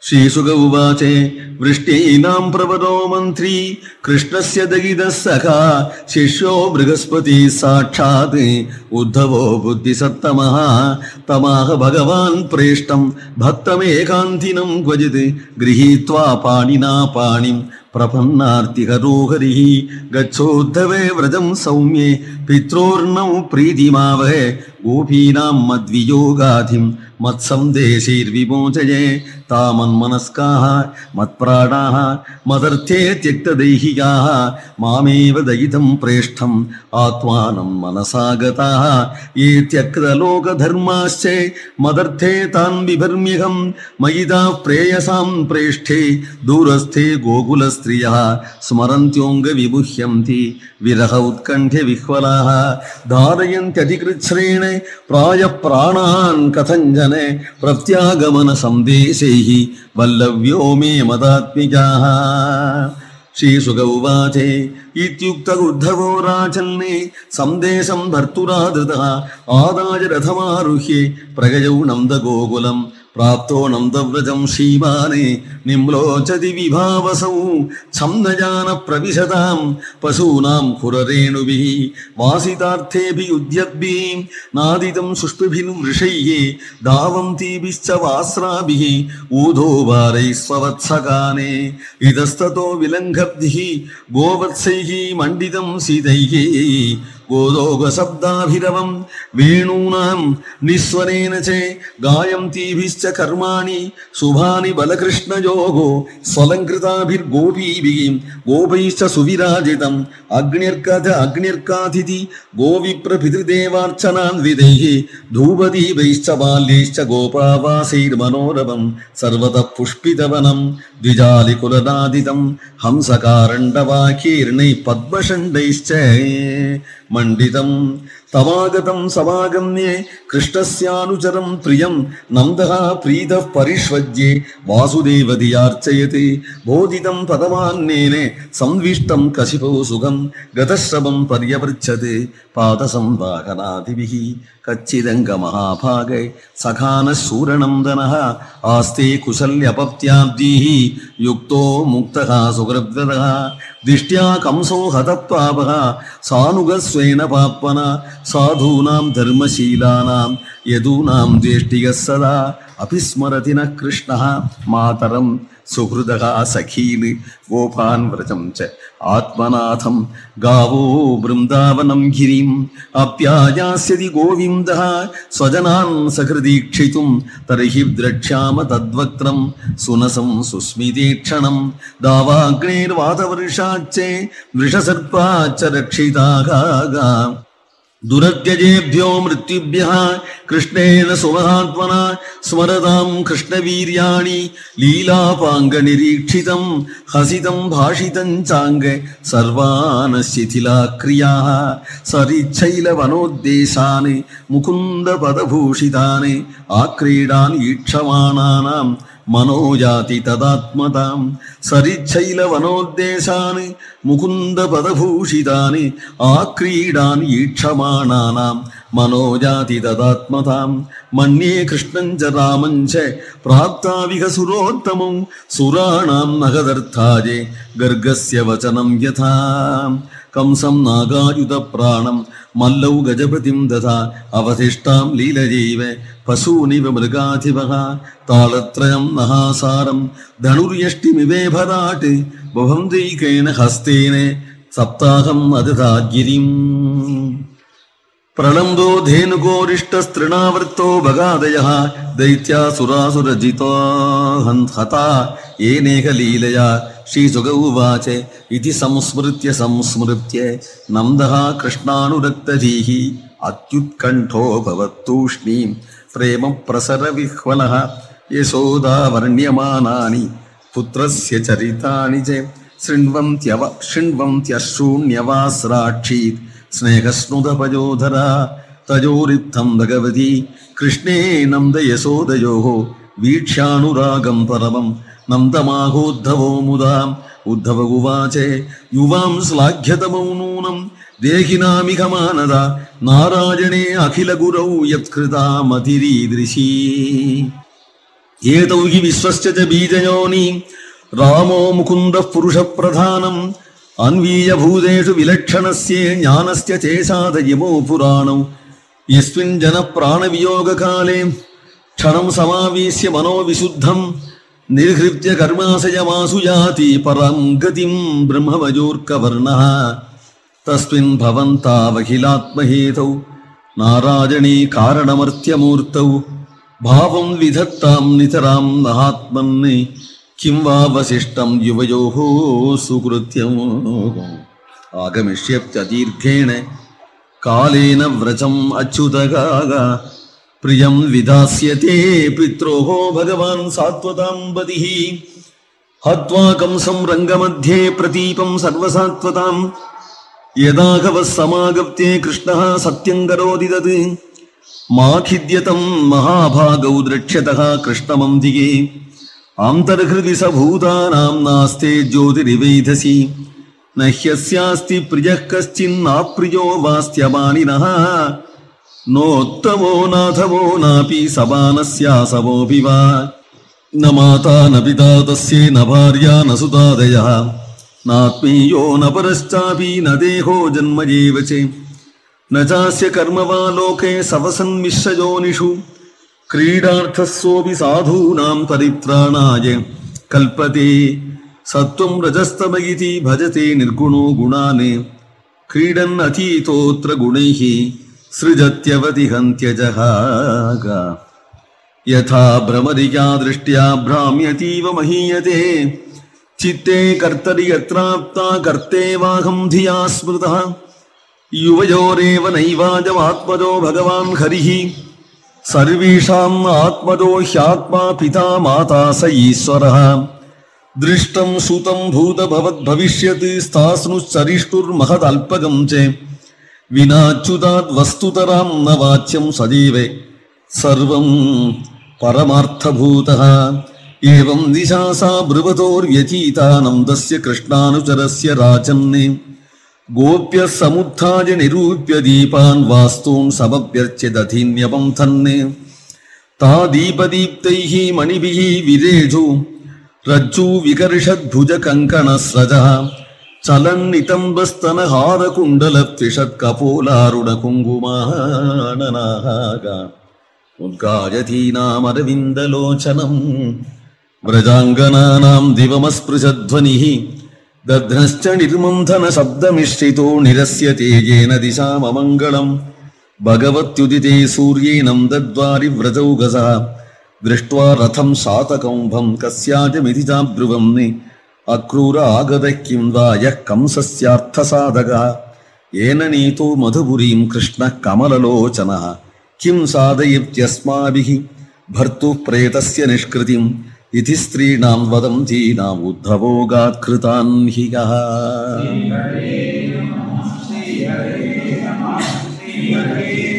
श्रीशुक उवाच वृष्टीनां प्रवरो मन्त्री कृष्णस्य दगिदः सखा शिष्यो बृहस्पतिः साक्षात् उद्धवो बुद्धिसत्तमः तमाह भगवान् प्रेष्टं भक्तमेकान्तिनं क्वचित् गृहीत्वा पाणिना पाणिं प्रपन्नार्तिहरो हरिः गच्छोद्धवे व्रजं सौम्ये पित्रोर्नौ प्रीतिमावहे गोपीनां मद्वियोगाधिं मत्संदेशैर्विमोचये तामन्मनस्काः मत्प्राणाः मदर्थे त्यक्तदैहिकाः मामेव दयितं प्रेष्ठम् आत्मानं मनसा गताः ये त्यक्तलोकधर्माश्च मदर्थे तान् बिभर्म्यहं मयिता प्रेयसां प्रेष्ठे दूरस्थे गोकुलस्त्रियः स्मरन्त्योऽङ्गविमुह्यन्ति विरह उत्कण्ठ्य विह्वलाः धारयन्त्यधिकृच्छ्रेण प्रायः प्राणान् कथञ्जने प्रत्यागमन संदेशैः वल्लव्यो मे मदात्मिकाः। श्रीशुक उवाच इत्युक्त उद्धवो राजन्ने संदेशं भर्तुरादृतः आदाय रथमारुह्य प्रगयौ नन्दगोकुलं प्राप्तो नन्दव्रजं श्रीमाने निम्लोचति विभावसौ छन्दजान प्रविशतां पशूनां खुररेणुभिः वासितार्थेभिः उद्यद्भिः नादितं सुष्टुभिर्वृषैः धावन्तीभिश्च वास्राभिः ऊधोभारैः स्ववत्सकाने इतस्ततो विलङ्घब्धिः गोवत्सैः मण्डितं सीतैः गोदोगशब्दाभिरवं वेणूनां निस्वनेन च गायन्तीभिश्च कर्माणि शुभानि बलकृष्णयोगो स्वलङ्कृताभिर्गोपीभिः गोपैश्च सुविराजितम् अग्निर्काथिति गोविप्रपितृदेवार्चनान्वितैः धूपदीपैश्च बाल्यैश्च गोपावासैर्मनोरमं सर्वतः पुष्पितवनं द्विजालिकुलनादितं हंसकारण्डवाकीर्णैः पद्मषण्डैश्च मण्डितं तमागतं समागम्ये कृष्णस्यानुचरं प्रियं नन्दः प्रीतः परिष्वज्ये वासुदेवधियार्चयते बोधितं पदमान्नेन संविष्टं कशिपो सुखं गतश्रवं पर्यवृच्छते पादसंवाहनादिभिः कच्चिदङ्गमहाभागे सखानः शूरनन्दनः आस्ते कुशल्यपत्याब्धिः युक्तो मुक्तः सुकृद्वदः दिष्ट्या कंसो हतत्वापः सानुगस्वेन पाप्मना साधूनां धर्मशीलानां यदूनां द्वेष्टिगः सदा अभिस्मरति न कृष्णः मातरं सुहृदः सखीन् गोपान् व्रजं च आत्मनाथं गावो वृन्दावनं गिरिम् अप्यायास्यति गोविन्दः स्वजनान् सकृदीक्षितुं तर्हि द्रक्ष्याम तद्वक्त्रं सुनसं सुस्मितीक्षणं दावाग्नेर्वातवर्षाच्च वृषसर्पाच्च रक्षिताः दुरत्यजेभ्यो मृत्युभ्यः कृष्णेन सुमहात्मना स्मरतां कृष्णवीर्याणि लीलापाङ्गनिरीक्षितं हसितं भाषितं चाङ्ग सर्वान् शिथिलाक्रियाः सरिच्छैलवनोद्देशान् मुकुन्दपदभूषितान् आक्रीडान् ईक्षमाणानां मनोजाति तदात्मतां सरिच्छैलवनोद्देशान् मुकुन्दपदभूषितानि आक्रीडान् ईक्षमाणानां मनोजाति तदात्मतां मन्ये कृष्णं च रामं च प्राप्ताविह सुरोत्तमं सुराणां नगदर्थाये गर्गस्य वचनं यथा कंसं नागायुधप्राणं मल्लौ गजपतिं दधा अवधिष्ठां लीलजैव पशूनिव मृगाधिपः तालत्रयं महासारं धनुर्यष्टिमिवेभराट् भवन्दैकेन हस्तेन सप्ताहम् अदधा गिरिम् प्रलम्बो धेनुकोरिष्टस्तृणावृत्तो भगादयः दैत्यासुरासुरजितो हता येनेकलीलया श्रीशुक उवाच इति संस्मृत्य नन्दः कृष्णानुरक्तधीः अत्युत्कण्ठो भवत्तूष्णीं प्रेम प्रसरविह्वलः यशोदावर्ण्यमानानि पुत्रस्य चरितानि च शृण्वन्त्यश्रूण्यवास्राक्षीत् स्नेहस्नुतपयोधरा तयोरित्थं भगवती कृष्णे नन्द यशोदयोः वीक्ष्यानुरागं परमं नन्दमाहोद्धवो मुदा उद्धव उवाच युवां श्लाघ्यतमौ नूनं देहिनामिह मानद नारायणे अखिल गुरौ यत्कृता मतिरीदृशी एतौ हि विश्वस्य च बीजयोनि रामो मुकुन्दः पुरुषप्रधानम् अन्वीय भूतेषु विलक्षणस्य ज्ञानस्य चेषादयमो पुराणौ यस्मिन् जनप्राणवियोगकाले क्षणं समावेश्य मनोविशुद्धं निर्हृत्य कर्माशयमासु याति परां गतिं ब्रह्मवजोर्कवर्णः तस्मिन् भवन्तावखिलात्महेतौ नारायणे कारणमर्त्यमूर्तौ भावं विधत्तां नितरां महात्मन् किं वा वसिष्ठं युवयोः सुकृत्यम् आगमिष्यत्यदीर्घेण कालेन व्रजम् अच्युतगाग प्रियं विधास्यते पित्रोः भगवान् सात्वतां पतिः हत्वा कंसं रङ्गमध्ये प्रतीपं सर्वसात्वतां यदाघवः समागत्ये कृष्णः सत्यं करोति तत् मा खिद्यतं महाभागौ द्रक्ष्यतः कृष्णमन्दिगे आन्तर्हृदि स भूतानां नास्ते ज्योतिरिवैधसि न ह्यस्यास्ति प्रियः कश्चिन्नाप्रियो वास्त्यमानिनः नोत्तमो नाथवो नापि समानस्यासवोऽपि वा न माता न पिता तस्ये न भार्या न सुतादयः नात्मीयो न परश्चापि न देहो जन्म एव च न चास्य कर्म वा लोके सवसन्मिश्रयोनिषु क्रीडार्थस्योऽपि साधूनां परित्राणाय कल्पते सत्वं रजस्तम इति भजते निर्गुणो गुणान् क्रीडन् अतीतोऽत्र गुणैः सृजत्यवतिहन्त्यजहाग यथा भ्रमरिका दृष्ट्या भ्राम्यतीव महीयते चित्ते कर्तरि यत्राप्ता कर्तेवाहं धिया स्मृतः युवयोरेव नैवाजमात्मजो भगवान् हरिः सर्वेषाम् आत्मजो ह्यात्मा पिता माता स ईश्वरः दृष्टं सुतं भूतभवद्भविष्यत् स्थास्नुश्चरिष्टुर्महदल्पकं च विनाच्युताद् वस्तुतरां न वाच्यं सदैव सर्वं परमार्थभूतः एवं दिशासा ब्रुवतोर्व्यतीतानन्दस्य कृष्णानुचरस्य राजन् गोप्यः समुत्थाय निरूप्य दीपान् वास्तून् समभ्यर्च्य दधिन्यपं थन् ता दीपदीप्तैः मणिभिः विरेजु रज्जु विकर्षद्भुजकङ्कणस्रजः चलन्नितम्बस्तनहारकुण्डलत्रिषत्कपोलारुणकुङ्कुमाननाः उद्गायतीनामरविन्दलोचनं व्रजाङ्गनानां दिवमस्पृशध्वनिः दध्नश्च निर्मन्थन शब्दमिश्रितो निरस्यते येन दिशाममङ्गलम् भगवत्युदिते सूर्येनं दद्वारि व्रजौगसः दृष्ट्वा रथं शातकौम्भं कस्याजमिति चाब्रुवम् अक्रूर आगतः किं वा यः कंसस्यार्थसाधकः येन नीतो मधुपुरीं कृष्णः कमललोचनः किं साधयत्यस्माभिः भर्तुः प्रेतस्य निष्कृतिम् इति स्त्रीणां वदन्तीनाम् उद्धवोगात् कृतान् हि यः श्रीहरे नमः श्रीहरे नमः श्रीहरे